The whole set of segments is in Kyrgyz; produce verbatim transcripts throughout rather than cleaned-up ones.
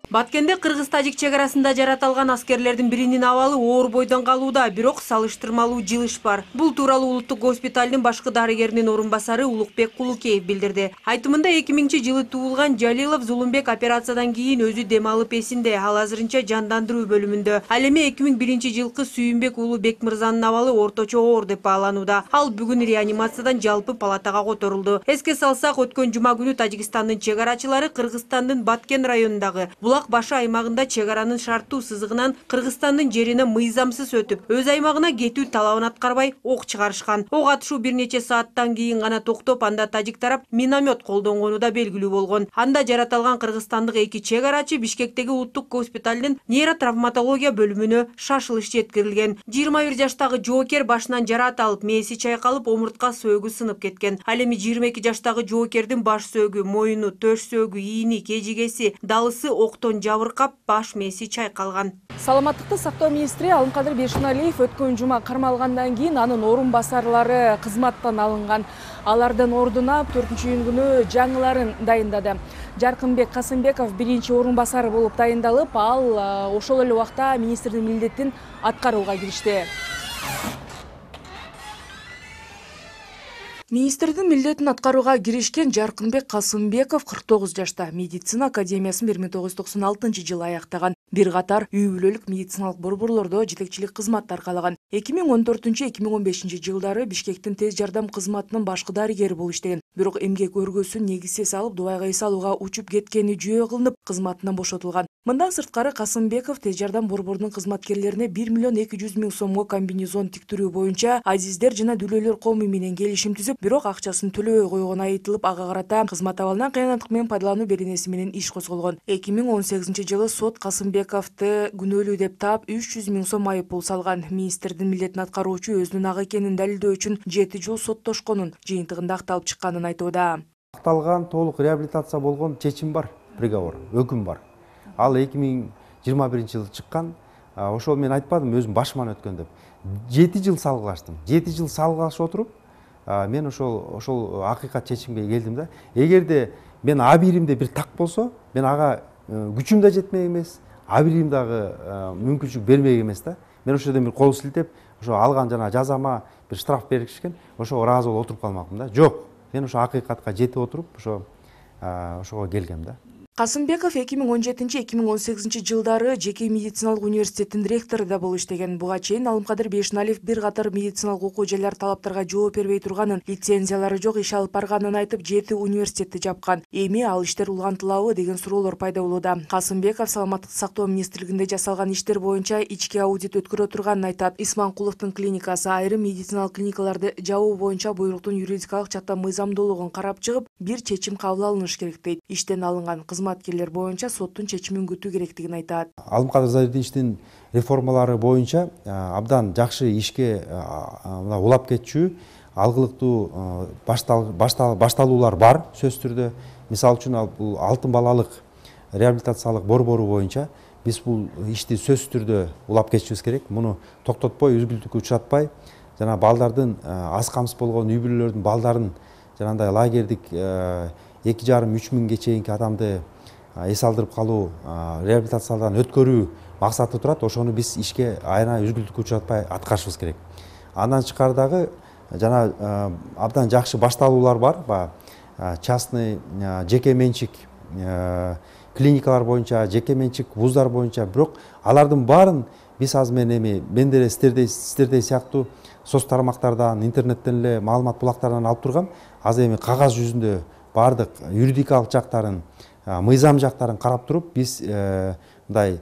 Баткенде кыргыз-тажик чек арасында жаратылган аскерлердин биринин абалы оор бойдон калууда, бирок салыштырмалуу жылыш бар. Бул тууралуу улуттук госпиталдын башкы дарыгеринин орун басары Улукбек Кулукеев билдирди. Айтымында эки миңинчи жылы туулган Жалилов Зулумбек операциядан кийин өзү дем алып эсинде, ал азырынча жандандыруу бөлүмүндө. Ал эми эки миң биринчи жылкы Сүйүнбек уулу Бекмырзанын абалы орточо оор деп бааланууда. Ал бүгүн реанимациядан жалпы палатага которулду. Эске салсак, өткөн жума күнү Тажикстандын чек арачылары Кыргызстандын Баткен районундагы Булак башы аймагында чек аранын шарттуу сызыгынан Кыргызстандын жерине мыйзамсыз өтүп, өз аймагына кетүү талабын аткарбай ок чыгарышкан. Ок атышуу бир нече сааттан кийин гана токтоп, анда тажик тарап миномет колдонгону да белгилүү болгон. Анда жаратылган кыргызстандык эки чек арачы Бишкектеги улуттук госпиталдын нейротравматология бөлүмүнө шашылыш жеткирилген. жыйырма бир жаштагы жоокер башынан жараат алып, мээси чайкалып, омуртка сөөгү сынып кеткен. Ал эми жыйырма эки жаштагы жоокердин баш сөөгү, мойну, төш сөөгү, ийни, кежигеси, далысы октон жабыркап, баш мээси чайкалган. Саламаттыкты сактоо министри Алымкадыр Бейшеналиев өткөн жума кармалгандан кийин анын орун басарлары кызматтан алынган. Алардын ордуна төртүнчү июнь күнү жаңыларын дайындады. Жаркынбек Касымбеков биринчи орун басары болуп дайындалып, ал ошол эле убакта министрдин милдетин аткарууга киришти. Министрдин милдетин аткарууга киришкен Жаркынбек Касымбеков кырк тогуз жашта, медицина академиясын бир миң тогуз жүз токсон алтынчы жылы аяктаган. Бир катар үй бүлөлүк медициналык борборлордо жетекчилик кызмат аркалаган. эки миң он төртүнчү эки миң он бешинчи жылдары Бишкектин тез жардам кызматынын башкы дарыгери болуп иштеген. Бирок эмгек өргөсүн негизсиз алып, Дубайга эс алууга учуп кеткени жөө кылынып, кызматынан бошотулган. Мындан сырткары Касымбеков тез жардам борборунун кызматкерлерине бир миллион эки жүз миң сомго комбинезон тиктирүү боюнча азиздер жана дүлөөлөр коому менен келишим түзүп, бирок акчасын төлөбөй койгону айтылып, ага карата кызмат абалынан кыянаттык менен пайдалануу беренеси менен иш козголгон. эки миң он сегизинчи жылы сот Касымбековду күнөөлүү деп таап үч жүз миң сом айып пул салган. Министрдин милдетин аткаруучу өзүнүн ак экенин далилдөө үчүн жети жыл соттошконун, жыйынтыгында акталып чыкканын айтууда. Акталган, толук реабилитация болгон чечим бар, приговор, өкүм бар. Ал эки миң жыйырма биринчи жылы чыккан. Ошол мен айтпадым, өзүм башыман өткөн деп. жети жыл салгылаштым. жети жыл салгылашып отуруп, мен ошол ошол акыйкат чечимге келдим да. Эгерде мен абийиримде бир так болсо, мен ага күчүм да жетмек эмес, абийирим дагы мүмкүнчүлүк бермек эмес да. Мен ошол жерден бир кол силтеп, ошо алган жана жазама бир штраф беришкен, ошого ыраазы болуп отуруп калмакмын да. Жок, мен ошо акыйкатка жетип отуруп, ошо ошого келгем да. Касымбеков эки миң он жетинчи эки миң он сегизинчи жылдары жеке медициналык университеттин ректору да болуп иштеген. Буга чейин Алымкадыр Бейшеналиев бир катар медициналык окуу жайлар талаптарга жооп бербей турганын, лицензиялары жок иш алып барганын айтып, жети университетти жапкан. Эми ал иштер улантылабы деген суроолор пайда болууда. Касымбеков саламаттыкты сактоо министрлигинде жасалган иштер боюнча ички аудит өткөрө турганын айтат. Исманкуловдун клиникасы айрым медициналык клиникаларды жабуу боюнча буйруктун юридикалык жактан мыйзамдуулугун карап чыгып, бир чечим кабыл алыныш керек дейт. Иштен алынган кызматкерлер боюнча соттун чечимин күтүү керектигин айтат. Алымкадыр Зайридиновичтин реформалары боюнча абдан жакшы ишке улап кетчү, алгылыктуу башталуулар бар сөзсүз түрдө. Мисалы үчүн бул алтын балалык реабилитациялык борбору боюнча биз бул ишти сөзсүз түрдө улап кетишибиз керек. Муну токтотпой, үзгүлтүккө учуратпай, жана балдардын аз камсыз болгон үй бүлөлөрдүн балдарын жанагындай лагердик эки жарым үч миңге чейинки адамды эс алдырып калуу, реабилитациядан өткөрүү максаты турат. Ошону биз ишке айына үзгүлтүккө учуратпай аткарышыбыз керек. Андан тышкары дагы жана абдан жакшы башталуулар бар. Частный, жеке менчик клиникалар боюнча, жеке менчик вуздар боюнча, бирок алардын баарын биз азыр мен эми мен деле сиздердей сиздердей сыяктуу соц тармактардан, интернеттен эле маалымат булактарынан алып тургам. Азыр эми кагаз жүзүндө баардык юридикалык жактарын, мыйзам жактарын карап туруп, биз мындай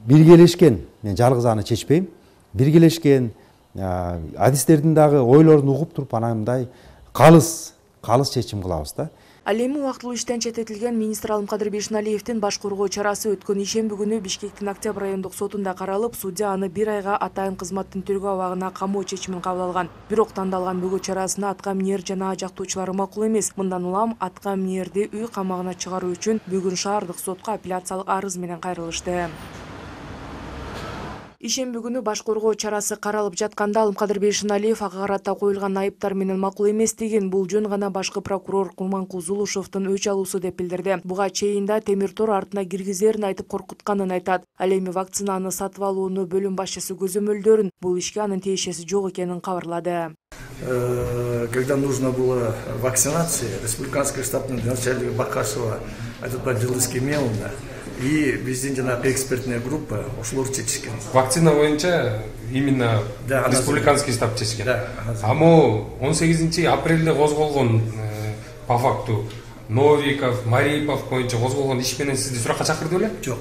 биргелешкен, мен жалгыз аны чечпейм, биргелешкен адистердин дагы ойлорун угуп туруп, анан мындай калыс, калыс чечим кылабыз да. Ал эми убактылуу иштен чететилген министр Алымкадыр Бейшеналиевдин баш коргоо чарасы өткөн ишемби күнү Бишкектин Октябрь райондук сотунда каралып, судья аны бир айга атайын кызматтын тергөө абагына камоо чечимин кабыл алган. Бирок тандалган бөгөө чарасына атка минер жана жактоочулары макул эмес. Мындан улам атка минерди үй камагына чыгаруу үчүн бүгүн шаардык сотко апелляциялык арыз менен кайрылышты. Ишемби күнү баш коргоо чарасы каралып жатканда Алымкадыр Бейшеналиев ага карата коюлган айыптар менен макул эместигин, бул жөн гана башкы прокурор Курманкул Зулушевдун өч алуусу деп билдирди. Буга чейин да темир тор артына киргизерин айтып коркутканын айтат. Ал эми вакцинаны сатып алууну бөлүм башчысы көзөмөлдөрүн, бул ишке анын тиешеси жок экенин кабарлады. Когда нужно было вакцинации, республиканская штабная начальника Бакашева этот поддержал Кемеловна и президентина экспертная группа ушло чечишкен. Вакцина боюнча именно да, республиканский штаб чечишкен. Да, Amo он сегизинчи апрелде козголгон по факту Новиков, Марипов боюнча козголгон иш менен сизди суракка чакырды беле? Жок.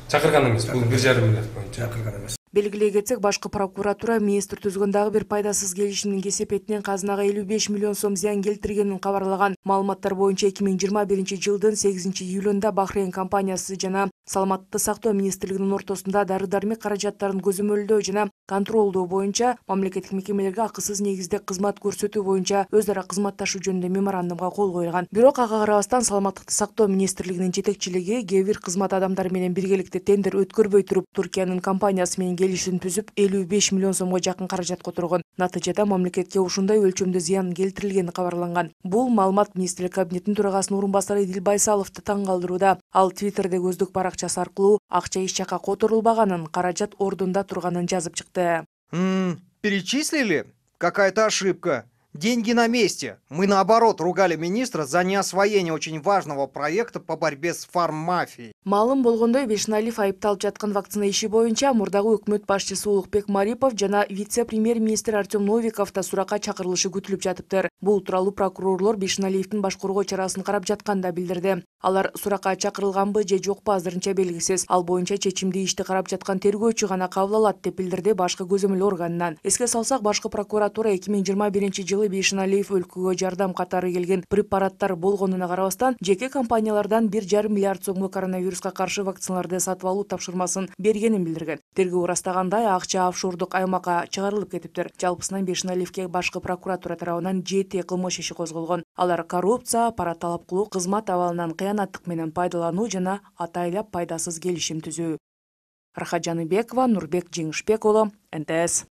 Чакырган эмес. Бул бир жарым миллиард боюнча. Чакырган эмес. Белгилей кетсек, башкы прокуратура министр түзгөн дагы бир пайдасыз келишимдин кесепетинен казынага элүү беш миллион сом зыян келтиргенин кабарлаган. Маалыматтар боюнча эки миң жыйырма биринчи жылдын сегизинчи июлунда Бахрейн компаниясы жана Саламаттыкты сактоо министрлигинин ортосунда дары-дармек каражаттарын көзөмөлдөө жана контролдоо боюнча мамлекеттик мекемелерге акысыз негизде кызмат көрсөтүү боюнча өз ара кызматташуу жөнүндө меморандумга кол коюлган. Бирок ага карабастан Саламаттыкты сактоо министрлигинин жетекчилиги кээ бир кызмат адамдары менен биргеликте тендер өткөрбөй туруп, Туркиянын компаниясы менен келишим түзүп элүү беш миллион сомго жакын каражат которгон. Натыйжада мамлекетке ушундай өлчөмдө зыян келтирилгени кабарланган. Бул маалымат министрлик кабинетинин төрагасынын орун басары Идил Байсаловду таң калтырууда. Ал Твиттерде өздүк баракчасы аркылуу акча эч жакка которулбаганын, каражат ордунда турганын жазып чыкты. М-м, перечислили? Какая-то ошибка. Деньги на месте. Мы, наоборот, ругали министра за неосвоение очень важного проекта по борьбе с фарммафией. Маалым болгондой, Бейшеналиев айыпталып жаткан вакцина иши боюнча мурдагы өкмөт башчысы Улукбек Марипов жана вице-премьер-министр Артем Новиков да суракка чакырылышы күтүлүп жатыптыр. Бул тууралуу прокурорлор Бейшеналиевдин баш коргоо чарасын карап жатканда билдирди. Алар суракка чакырылганбы же жокпу азырынча белгисиз. Ал боюнча чечимди ишти карап жаткан тергөөчү гана кабыл алат деп билдирди башкы көзөмөл органынан. Эске салсак, башкы прокуратура эки миң жыйырма биринчи жылы Бейшеналиев өлкөгө жардам катары келген препараттар болгонуна карабастан жеке компаниялардан бир жарым миллиард сомго коронавируска каршы вакциналарды сатып алуу тапшырмасын бергенин билдирген. Тергөө ырастагандай, акча офшордук аймакка чыгарылып кетиптир. Жалпысынан Бейшеналиевке башкы прокуратура тарабынан жети кылмыш иши козголгон. Алар коррупция, пара талап кылуу, кызмат абалынан кыянаттык менен пайдалануу жана атайлап пайдасыз келишим түзүү. Рахат Жаныбекова, Нурбек Жеңишбек уулу, Н Т С.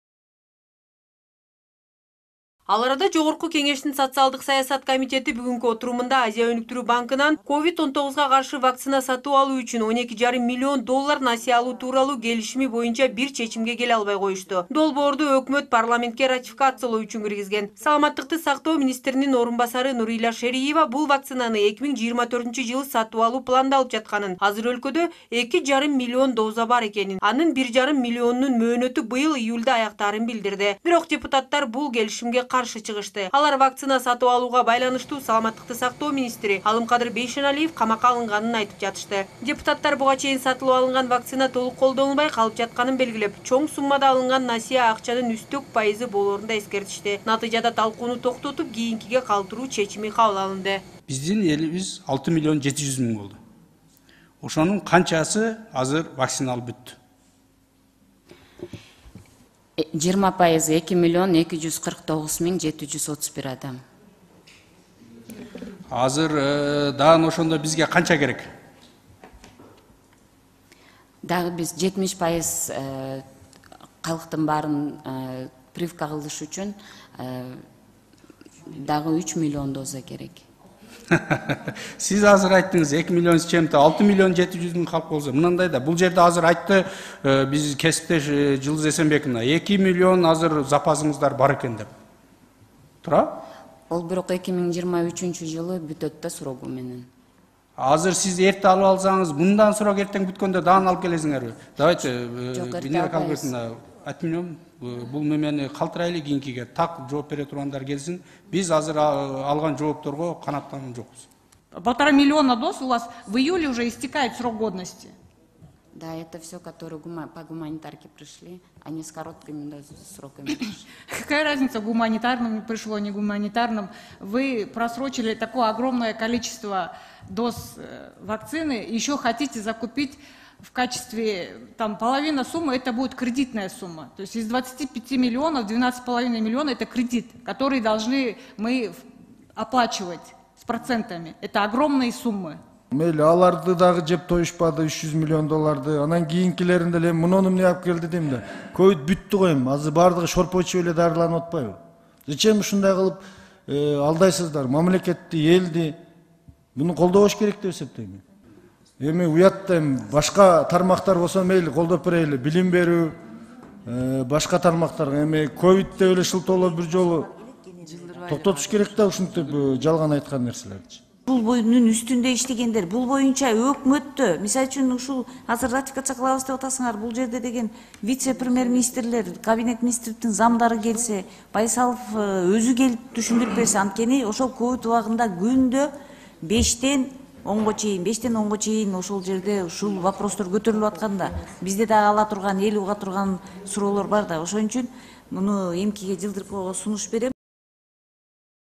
Ал арада Жогорку Кеңештин социалдык саясат комитети бүгүнкү отурумунда Азия өнүктүрүү банкынан ковид он тогузга каршы вакцина сатып алуу үчүн он эки жарым миллион доллар насыя алуу тууралуу келишими боюнча бир чечимге келе албай коюшту. Долбоорду өкмөт парламентке ратификациялоо үчүн киргизген. Саламаттыкты сактоо министринин орун басары Нурила Шериева бул вакцинаны эки миң жыйырма төртүнчү жылы сатып алуу пландалып жатканын, азыр өлкөдө эки жарым миллион доза бар экенин, анын бир жарым миллионунун мөөнөтү быйыл июлда аяктаарын билдирди. Бирок депутаттар бул келишимге каршы чыгышты. Алар вакцина сатып алууга байланыштуу Саламаттыкты сактоо министри Алымкадыр Бейшеналиев камакка алынганын айтып жатышты. Депутаттар буга чейин сатылып алынган вакцина толук колдонулбай калып жатканын белгилеп, чоң суммада алынган насыя акчанын үстөк пайызы болоорун да эскертишти. Натыйжада талкууну токтотуп, кийинкиге калтыруу чечими кабыл алынды. Биздин элибиз алты миллион жети жүз миң болду. Ошонун канчасы азыр вакцина алып бүттү? жыйырма пайызы эки миллион эки жүз кырк тогуз миң жети жүз отуз бир адам. Азыр дагы ошондо бизге канча керек? Дагы биз жетимиш пайыз калктын баарын прививка кылыш үчүн дагы үч миллион доза керек. Сиз азыр айттыңыз эки миллион с чем-то, алты миллион жети жүз миң калп болсо. Мынандай да, бул жерде азыр айтты биз кесиптеш Жылдыз Эсенбековна, эки миллион азыр запасыңыздар бар экен деп. Тура? Ол бирок эки миң жыйырма үчүнчү жылы бүтөт да срогу менен. Азыр сиз эрте алып алсаңыз, мындан срок эртең бүткөндө дагы алып келесиңерби? Давайте, Венера Калбековна, айтмыйм, бул мемени калтырайлы, кийинкиге так жооп бере тургандар келсин. Биз азыр алган жоопторго канаттанып жокпуз. Полтора миллиона доз у вас в июле уже истекает срок годности. Да, это все, которые по гуманитарке пришли, они с короткими сроками пришли. Какая разница, гуманитарным пришло, не гуманитарным? Вы просрочили такое огромное количество доз вакцины, еще хотите закупить в качестве, там, половина суммы, это будет кредитная сумма. То есть из двадцати пяти миллионов, двенадцать с половиной миллионов это кредит, который должны мы оплачивать с процентами. Это огромные суммы. Мейли аларды дагы жеп тоюшпады үч жүз миллион долларды. Анан кийинкилеринде эле муну эмне алып келди дейм да. Ковид бүттү го эми. Азыр бардыгы шорпочу эле дарыланып атпайбы? Зачем ушундай кылып алдайсыздар? Мамлекетти, элди буну колдобош керек деп эсептейм. Эми уятта эми башка тармактар болсо мейли колдоп берели. Билим берүү, башка тармактарга эми ковидте эле шылтоолор бир жолу токтотуш керек да ушинтип жалган айткан нерселерди. Бул боюнун үстүндө иштегендер, бул боюнча өкмөттө, мисалы үчүн ушул азыр ратификация кылабыз деп атасыңар, бул жерде деген вице-премьер-министрлер, кабинет министрликтин замдары келсе, Байсалов өзү келип түшүндүрүп берсе, анткени ошол ковид убагында күндө бештен онго чейин, бештен онго чейин ошол жерде ушул вопростор көтөрүлүп атканда, бизде дагы ала турган, эл уга турган суроолор бар да. Ошон үчүн муну эмкиге жылдырып сунуш берем.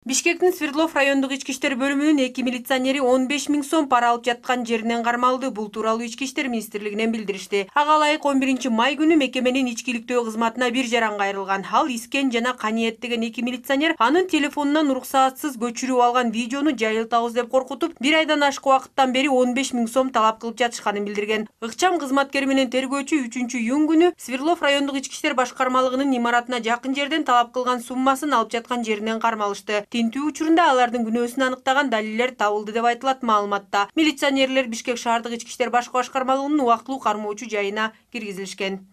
Бишкектин Свердлов райондук ички иштер бөлүмүнүн эки милиционери он беш миң сом пара алып жаткан жеринен кармалды. Бул тууралуу ички иштер министрлигинен билдиришти. Ага ылайык он биринчи май күнү мекеменин ичкиликтөө кызматына бир жаранга айрылган. Ал Искен жана Каниет деген эки милиционер анын телефонунан уруксаатсыз көчүрүп алган видеону жайылтабыз деп коркутуп, бир айдан ашык убакыттан бери он беш миң сом талап кылып жатышканын билдирген. Ыкчам кызматкери менен тергөөчү үчүнчү июнь күнү Свердлов райондук ички иштер башкармалыгынын имаратына жакын жерден талап кылган суммасын алып жаткан жеринен кармалышты. Тинтүү учурунда алардын күнөөсүн аныктаган далилдер табылды деп айтылат маалыматта. Милиционерлер Бишкек шаардык ички иштер башкы башкармалыгынын убактылуу кармоочу жайына киргизилишкен.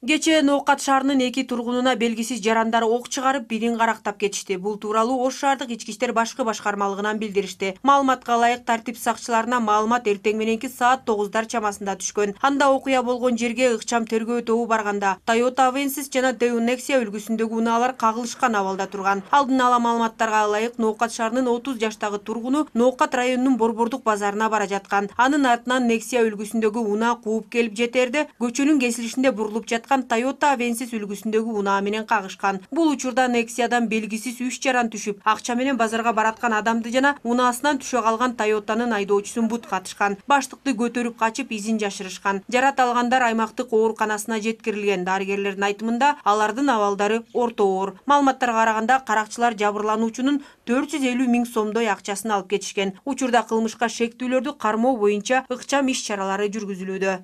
Кечээ Ноокат шаарынын эки тургунуна белгисиз жарандар ок чыгарып, бирин карактап кетишти. Бул тууралуу Ош шаардык ички иштер башкы башкармалыгынан билдиришти. Маалыматка ылайык тартип сакчыларына маалымат эртең мененки саат тогуздар чамасында түшкөн. Анда окуя болгон жерге ыкчам тергөө тобу барганда Toyota Avensis жана Daewoo Nexia үлгүсүндөгү унаалар кагылышкан абалда турган. Алдын ала маалыматтарга ылайык Ноокат шаарынын отуз жаштагы тургуну Ноокат районунун Борбордук базарына бара жаткан. Анын артынан Nexia үлгүсүндөгү унаа кууп келип жетерде көчөнүн кесилишинде бурулуп жаткан Toyota Avensis үлгүсүндөгү унаа менен кагышкан. Бул учурда Nexia'дан белгисиз үч жаран түшүп, акча менен базарга бараткан адамды жана унаасынан түшө калган Toyota'нын айдоочусун бут катышкан. Баштыкты көтөрүп качып, изин жашырышкан. Жарат алгандар аймактык ооруканасына жеткирилген. Дарыгерлердин айтымында алардын абалдары орто оор. Маалыматтарга караганда каракчылар жабырлануучунун төрт жүз элүү миң сомдой акчасын алып кетишкен. Учурда кылмышка шектүүлөрдү кармоо боюнча ыкчам иш чаралары жүргүзүлүүдө.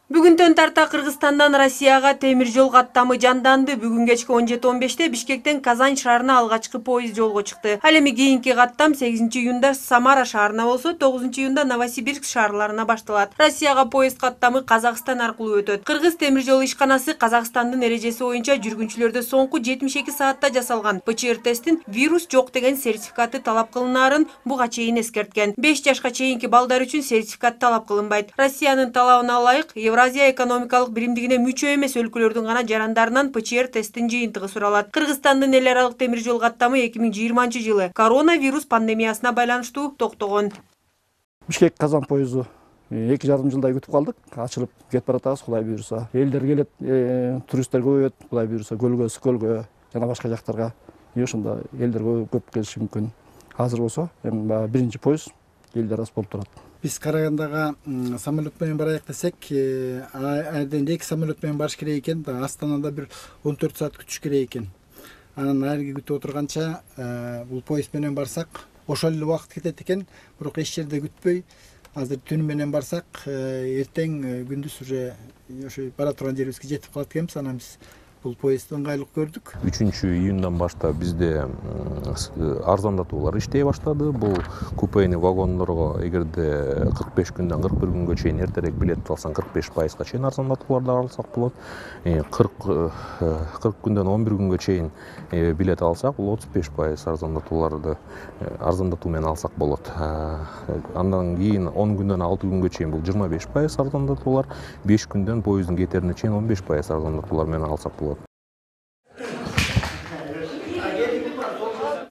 Бүгүндөн тарта Кыргызстандан Россияга темир жол каттамы жанданды. Бүгүн кечки он жети он беште Бишкектен Казань шаарына алгачкы поезд жолго чыкты. Ал эми кийинки каттам сегизинчи июнда Самара шаарына болсо, тогузунчу июнда Новосибирск шаарларына башталат. Россияга поезд каттамы Казакстан аркылуу өтөт. Кыргыз темир жол ишканасы Казакстандын эрежеси боюнча жүргүнчүлөрдө соңку жетимиш эки саатта жасалган ПЧР тесттин вирус жок деген сертификаты талап кылынаарын буга чейин эскерткен. беш жашка чейинки балдар үчүн сертификат талап кылынбайт. Россиянын талабына ылайык Евразия экономикалык биримдигине мүчө эмес өлкөлөрдүн гана жарандарынан ПЧР тесттин жыйынтыгы суралат. Кыргызстандын эл аралык темир жол каттамы эки миң жыйырманчы жылы коронавирус пандемиясына байланыштуу токтогон. Бишкек Казан поезду эки жарым жылдай күтүп калдык. Ачылып кетип баратабыз, Кудай буйруса. Элдер келет, туристтер көбөйөт, Кудай буйруса, көлгө, Скөлгө жана башка жактарга. Ошондо элдер көп келиши мүмкүн. Азыр болсо, эми биринчи поезд элдер аз болуп турат. Биз Карагандага самолет менен барайык десек, айрдан эки самолет менен барыш керек экен. Астанада бир он төрт саат күтүш керек экен. Анан айрги күтүп отурганча бул поезд менен барсак, ошол эле убакыт кетет экен. Бирок эч жерде күтпөй, азыр түн менен барсак, эртең күндүз уже ошо бара турган жерибизге жетип калат экенбиз. Анан биз бул поездди ыңгайлык көрдүк. үчүнчү июндан баштап бизде арзандатуулар иштей баштады. Бул купейный вагондорго эгерде кырк беш күндөн кырк бир күнгө чейин эртерээк билет алсаң кырк беш пайызга чейин арзандатууларды алсак болот. кырк күндөн он бир күнгө чейин билет алсак, бул отуз беш пайыз арзандатууларды арзандатуу менен алсак болот. Андан кийин он күндөн алты күнгө чейин бул жыйырма беш пайыз арзандатуулар, беш күндөн поезддин кетерине чейин он беш пайыз арзандатуулар менен алсак болот.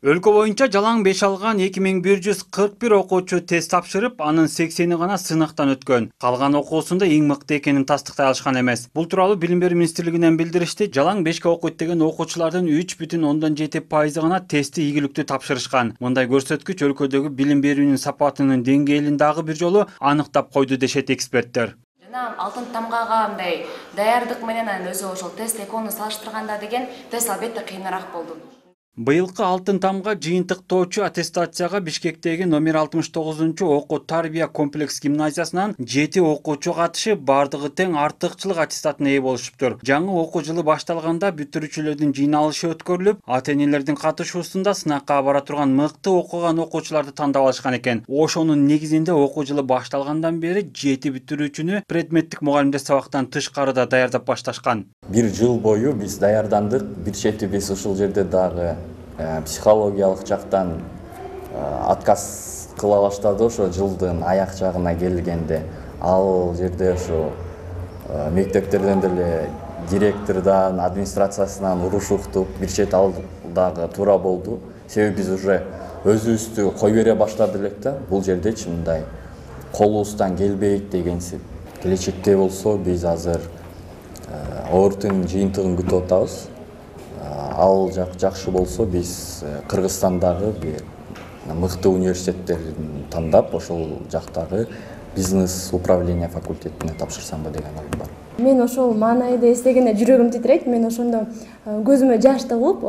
Өлкө боюнча жалаң беш алган эки миң бир жүз кырк бир окуучу тест тапшырып, анын сексени гана сынактан өткөн. Калган окуусунда эң мыкты экенин тастыктай алышкан эмес. Бул тууралуу Билим берүү министрлигинен билдиришти. Жалаң бешке окуйт деген окуучулардын үч бүтүн ондон жети пайызы гана тестти ийгиликтүү тапшырышкан. Мындай көрсөткүч өлкөдөгү билим берүүнүн сапатынын деңгээлин дагы бир жолу аныктап койду дешет эксперттер. Жана алтын тамгага мындай даярдык менен өзү ошол тест экөөнү салыштырганда деген тест албетте кыйыныраак болду. Быйылкы алтын тамга жыйынтыктоочу аттестацияга Бишкектеги номер алтымыш тогузунчу окуу тарбия комплекс гимназиясынан жети окуучу катышып, бардыгы тең артыкчылык аттестатына ээ болушуптур. Жаңы окуу жылы башталганда бүтүрүүчүлөрдүн жыйналышы өткөрүлүп, ата-энелердин катышуусунда сынакка бара турган мыкты окуган окуучуларды тандап алышкан экен. Ошонун негизинде окуу жылы башталгандан бери жети бүтүрүүчүнү предметтик мугалимдер сабактан тышкарыда даярдап башташкан. Бир жыл бою биз даярдандык. Бир чети биз ушул жерде дагы психологиялык жактан отказ кыла баштады. Ошо жылдын аяк жагына келгенде ал жерде ошо мектептерден деле директордон, администрациясынан уруш уктуп, бир чет ал дагы туура болду. Себеби биз уже өзүбүздү кой бере баштады элек да. Бул жердечи мындай колубуздан келбейт дегенсип. Келечекте болсо биз азыр ордун жыйынтыгын күтүп атабыз. Ал жак жакшы болсо биз Кыргызстандагы бир мыкты университеттерин тандап, ошол жактагы бизнес управление факультетине тапшырсамбы деген оюм бар. Мен ошол маанайды эстегенде жүрөгүм титирейт. Мен ошондо көзүмө жаш тыгылып,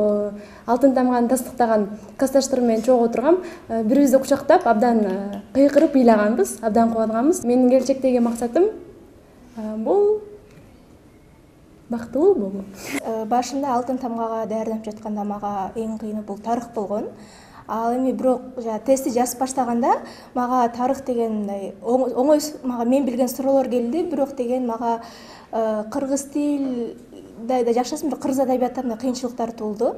алтын тамганы тастыктаган классташтарым менен чогуу отургам. Бирибизди кучактап, абдан кыйкырып ыйлаганбыз, абдан кубанганбыз. Менин келечектеги максатым бул бактылуу болуу. Башында алтын тамгага даярданып жатканда мага эң кыйыны бул тарых болгон. Ал эми бирок тестти жазып баштаганда мага тарых деген мындай оңой мага мен билген суроолор келди, бирок деген мага кыргыз тилде да жакшысын бир кыргыз адабиятында мындай кыйынчылыктар туулду.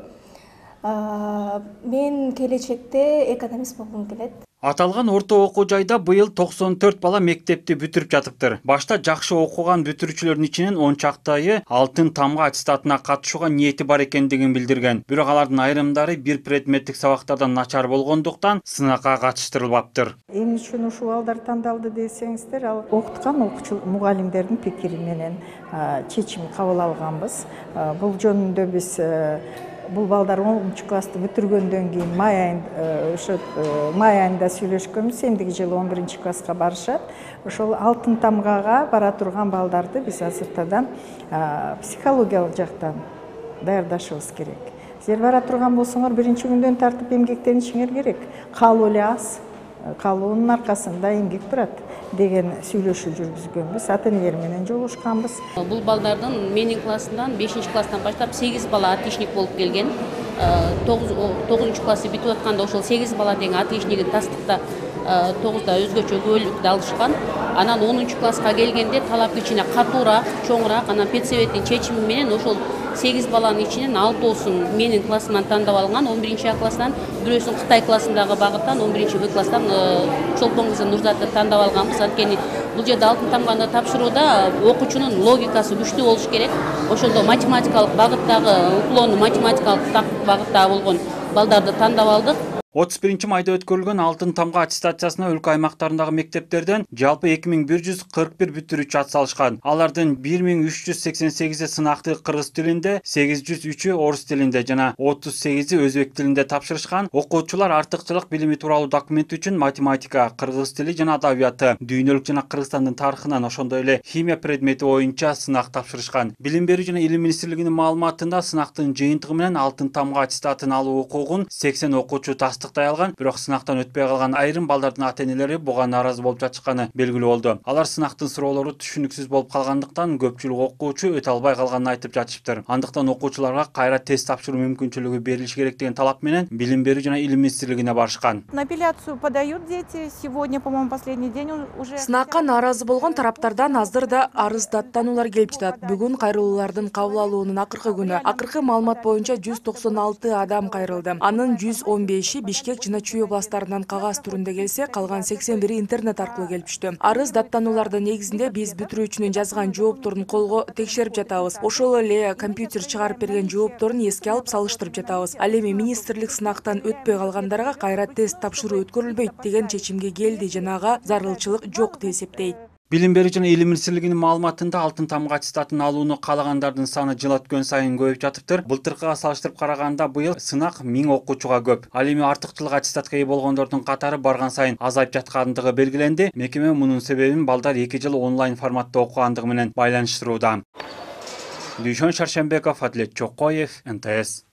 Мен келечекте экономист болгум келет. Аталган орто окуу жайда быйыл токсон төрт бала мектепти бүтүрүп жатыптыр. Башта жакшы окуган бүтүрүүчүлөрдүн ичинен он чактайы алтын тамга аттестатына катышууга ниети бар экендигин билдирген. Бирок алардын айрымдары бир предметтик сабактардан начар болгондуктан сынакка катыштырылбаптыр. Эмне үчүн ушул балдар тандалды десеңиздер, ал окуткан окуучу мугалимдердин пикири менен чечим кабыл алганбыз. Бул жөнүндө биз бул балдар онунчу классты бүтүргөндөн кийин май айында ошо май айында сүйлөшкөнбүз. Эмдиги жылы он биринчи класска барышат. Ошол алтын тамгага бара турган балдарды биз азыртадан психологиялык жактан даярдашыбыз керек. Силер бара турган болсоңор биринчи күндөн тартып эмгектенишиңер керек. Калуу эле аз, калуунун аркасында эмгек турат деген сүйлөшүү жүргүзгөнбүз. Ата-энелер менен жолугушканбыз. Бул балдардын менин классымдан бешинчи класстан баштап сегиз бала отличник болуп келген. тогузунчу классты бүтүп атканда ошол сегиз бала тең отличнигин тастыкта тогузда өзгөчө көбөлүктү алышкан. Анан онунчу класска келгенде талап кичине катуураак, чоңураак, анан педсоветтин чечими менен ошол сегиз баланын ичинен алтоосун менин классымдан тандап алынган. он биринчи А класстан, бирөөсүн Кытай классындагы багыттан, он биринчи Б класстан Чолпон кызы Нурзатты тандап алганбыз. Анткени бул жерде алтын тамганы тапшырууда окуучунун логикасы күчтүү болуш керек. Ошондо математикалык багыттагы, уклону математикалык багытта болгон балдарды тандап алдык. отуз биринчи майда өткөрүлгөн алтын тамга аттестациясына өлкө аймактарындагы мектептерден жалпы эки миң бир жүз кырк бир бүтүрүүчү ат салышкан. Алардын бир миң үч жүз сексен сегизи сынакты кыргыз тилинде, сегиз жүз үчү орус тилинде жана отуз сегизи өзбек тилинде тапшырышкан. Окуучулар артыкчылык билими тууралуу документ үчүн математика, кыргыз тили жана адабияты, дүйнөлүк жана Кыргызстандын тарыхынан, ошондой эле химия предмети боюнча сынак тапшырышкан. Билим берүү жана илим министрлигинин маалыматында сынактын жыйынтыгы менен алтын тамга аттестатын алуу укугун сексен окуучу тастыктай алган, бирок сынактан өтпөй калган айрым балдардын ата-энелери буга нааразы болуп жатышканы белгилүү болду. Алар сынактын суроолору түшүнүксүз болуп калгандыктан көпчүлүк окуучу өтө албай калганын айтып жатышыптыр. Андыктан окуучуларга кайра тест тапшыруу мүмкүнчүлүгү берилиши керек деген талап менен Билим берүү жана илим министрлигине барышкан. На апелляцию подают дети. Сегодня, по-моему, последний день уже. Сынакка нааразы болгон тараптардан азыр да арыз даттануулар келип жатат. Бүгүн кайрылуулардын кабыл алуунун акыркы күнү. Акыркы маалымат боюнча жүз токсон алты адам кайрылды. Анын жүз он беши Бишкек жана Чүй областарынан кагаз түрүндө келсе, калган сексен бири интернет аркылуу келип түштү. Арыз даттануулардын негизинде биз бүтүрүүчүнүн жазган жоопторун колго текшерип жатабыз. Ошол эле компьютер чыгарып берген жоопторун эске алып салыштырып жатабыз. Ал эми министрлик сынактан өтпөй калгандарга кайра тест тапшыруу өткөрүлбөйт деген чечимге келди жана ага зарылчылык жок деп эсептейт. Билим берүү жана илим министрлигинин маалыматында алтын тамга аттестатын алууну каалагандардын саны жыл өткөн сайын көбөйүп жатыптыр. Былтыркыга салыштырып караганда быйыл сынак миң окуучуга көп. Ал эми артыкчылык аттестатка ээ болгондордун катары барган сайын азайып жаткандыгы белгиленди. Мекеме мунун себебин балдар эки жыл онлайн форматта окугандыгы менен байланыштырууда. Дүйшөн Шаршембеков, Адлет Чокоев, Н Т С.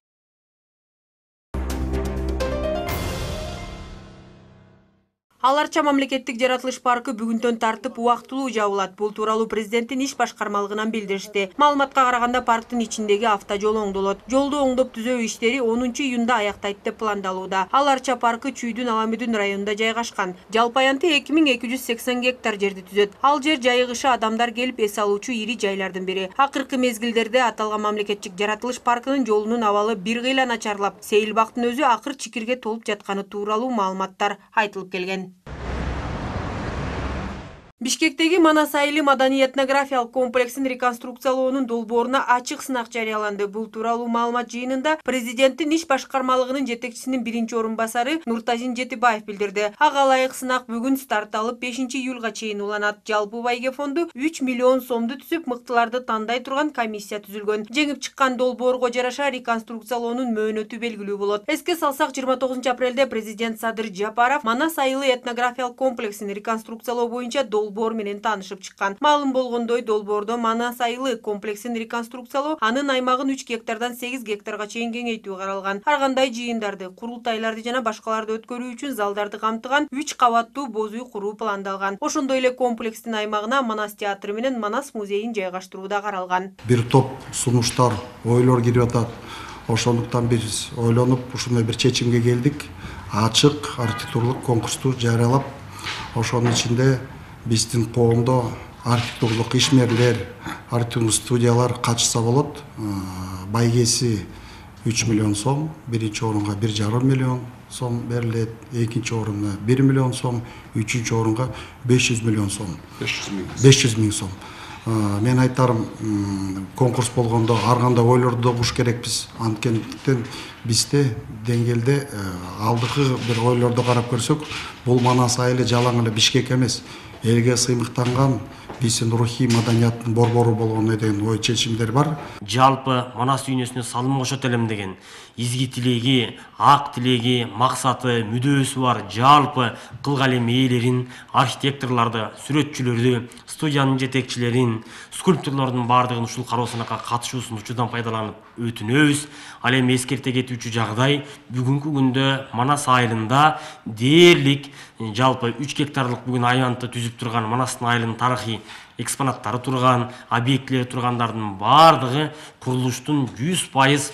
Ал Арча мамлекеттик жаратылыш паркы бүгүндөн тартып убактылуу жабылат. Бул тууралуу президенттин иш башкармалыгынан билдиришти. Маалыматка караганда парктын ичиндеги автожол оңдолот. Жолду оңдоп түзөө иштери онунчу июнда аяктайт деп пландалууда. Ал Арча паркы Чүйдүн Аламүдүн районунда жайгашкан. Жалпы аянты эки миң эки жүз сексен гектар жерди түзөт. Ал жер жайыгышы адамдар келип эс алуучу ири жайлардын бири. Акыркы мезгилдерде аталган мамлекеттик жаратылыш паркынын жолунун абалы бир кыйла начарлап, Сейилбактын өзү акыр чикирге толуп жатканы тууралуу маалыматтар айтылып келген. Бишкектеги Манас айылы маданий этнографиялык комплексин реконструкциялоонун долбооруна ачык сынак жарыяланды. Бул тууралуу маалымат жыйынында президенттин иш башкармалыгынын жетекчисинин биринчи орун басары Нуртазин Жетибаев билдирди. Ага ылайык сынак бүгүн старт алып бешинчи июлга чейин уланат. Жалпы байге фонду үч миллион сомду түзүп, мыктыларды тандай турган комиссия түзүлгөн. Жеңип чыккан долбоорго жараша реконструкциялоонун мөөнөтү белгилүү болот. Эске салсак, жыйырма тогузунчу апрелде президент Садыр Жапаров Манас айылы этнографиялык комплексин реконструкциялоо боюнча долбоор менен таанышып чыккан. Маалым болгондой, долбоордо Манас айылы комплексин реконструкциялоо, анын аймагын үч гектардан сегиз гектарга чейин кеңейтүү каралган. Ар кандай жыйындарды, курултайларды жана башкаларды өткөрүү үчүн залдарды камтыган үч кабаттуу боз үй куруу пландалган. Ошондой эле комплекстин аймагына Манас театры менен Манас музейин жайгаштыруу да каралган. Бир топ сунуштар, ойлор кирип атат. Ошондуктан биз ойлонуп ушундай бир чечимге келдик. Ачык архитектурлук конкурсту жарыялап, ошонун ичинде биздин коомдо архитектурлук ишмерлер, архитектурлук студиялар катышса болот. Байгеси үч миллион сом, биринчи орунга бир жарым миллион сом берилет, экинчи орунга бир миллион сом, үчүнчү орунга беш жүз миллион сом. беш жүз миң сом. Мен айтарым, конкурс болгондо ар кандай ойлорду да угуш керекпиз. Анткендиктен бизде деңгээлде алдыкы бир ойлорду карап көрсөк, бул Манас айылы жалаң эле Бишкек эмес, элге сыймыктанган биздин рухий маданияттын борбору болгону деген ой чечимдер бар. Жалпы Манас дүйнөсүнө салым кошот элем деген изги тилеги, ак тилеги, максаты, мүдөөсү бар жалпы кылга элем ээлерин, архитекторлорду, сүрөтчүлөрдү, студиянын жетекчилерин, скульпторлордун баардыгын ушул кароо сынакка катышуусун учурдан пайдаланып өтүнөбүз. Ал эми эскерте кетүүчү жагдай, бүгүнкү күндө Манас айылында дээрлик жалпы үч гектарлык бүгүн аянтты түзүп турган Манастын айылынын тарыхый экспонаттары турган, объектилери тургандардын баардыгы курулуштун жүз пайыз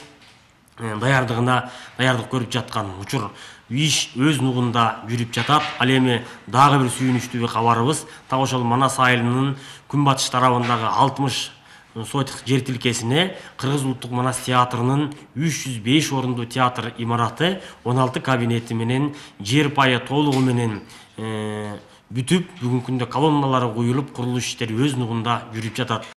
даярдыгына даярдык көрүп жаткан учур. Иш өз нугунда жүрүп жатат. Ал эми дагы бир сүйүнүчтүү кабарыбыз, так ошол Манас айылынын күнбатыш тарабындагы алтымыш сотик жер тилкесине Кыргыз улуттук Манас театрынын үч жүз беш орундуу театр имараты, он алты кабинети менен жер пайы толугу менен бүтүп, бүгүнкү күндө колонналары коюлуп, курулуш иштери өз нугунда жүрүп жатат.